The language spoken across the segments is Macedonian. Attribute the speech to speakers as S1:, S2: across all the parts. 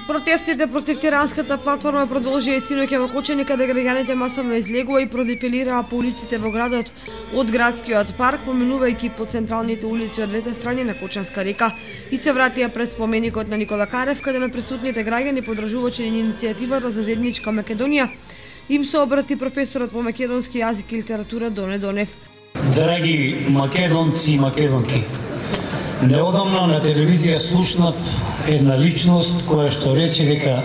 S1: Протестите против тиранската платформа продолжија и синоќа во Кочани, каде граѓаните масовно излегува и продефилираа по улиците во градот од градскиот парк, поминувајќи по централните улици од двете страни на Кочанска река и се вратија пред споменикот на Никола Карев, каде на присутните граѓани подржувачи на иницијативата за заедничка Македонија им се обрати професорот по македонски јазик и литература Доне Донев.
S2: Драги македонци и македонки, неодамна на телевизија слушнав една личност која што рече дека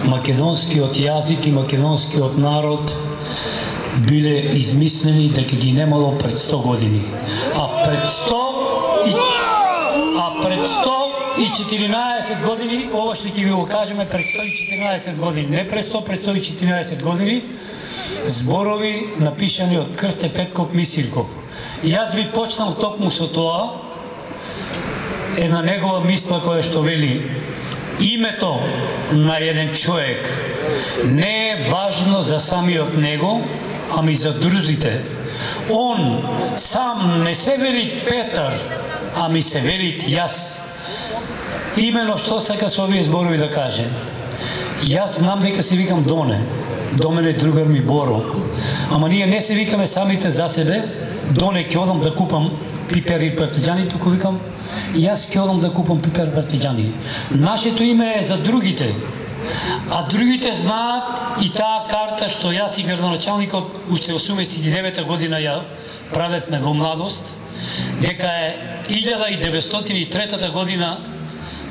S2: македонскиот јазик и македонскиот народ биле измислени дека ги немало пред 100 години. А пред 114 години, ова што ќе ви го кажеме, пред 114 години, не пред 100, пред 114 години, зборови напишани од Крсте Петков Мисирков. И јас би почнал токму со тоа, една негова мисла која што вели: името на еден човек не е важно за самиот него, ами за друзите. Он сам не се вели Петар, ами се вели јас. Имено што сака со овие зборови да каже. Јас знам дека се викам Доне, до мене другар ми Боро, ама ние не се викаме самите за себе. Доне ќе одам да купам пипер и партиџани, туку викам јас ќе одам да купам пипер и партиџани. Нашето име е за другите, а другите знаат и таа карта што јас и градоначалникот уште 89-та година ја правевме во младост, дека е 1903 година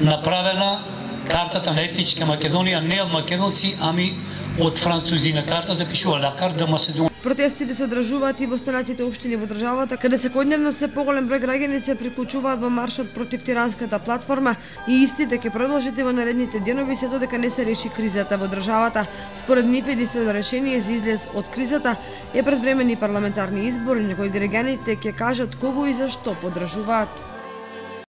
S2: направена картата на етничка Македонија, не од македонци, ами од французи. На картата пишува La carte de Macédoine.
S1: Протестите се одржуваат и во останатите општини во државата, каде секојдневно се поголем број граѓани се приклучуваат во маршот против тиранската платформа и истите ќе продолжат и во наредните денови се додека не се реши кризата во државата. Според нив единствено решение за излез од кризата е предвремени парламентарни избори на кои граѓаните ќе кажат кого и зашто поддржуваат.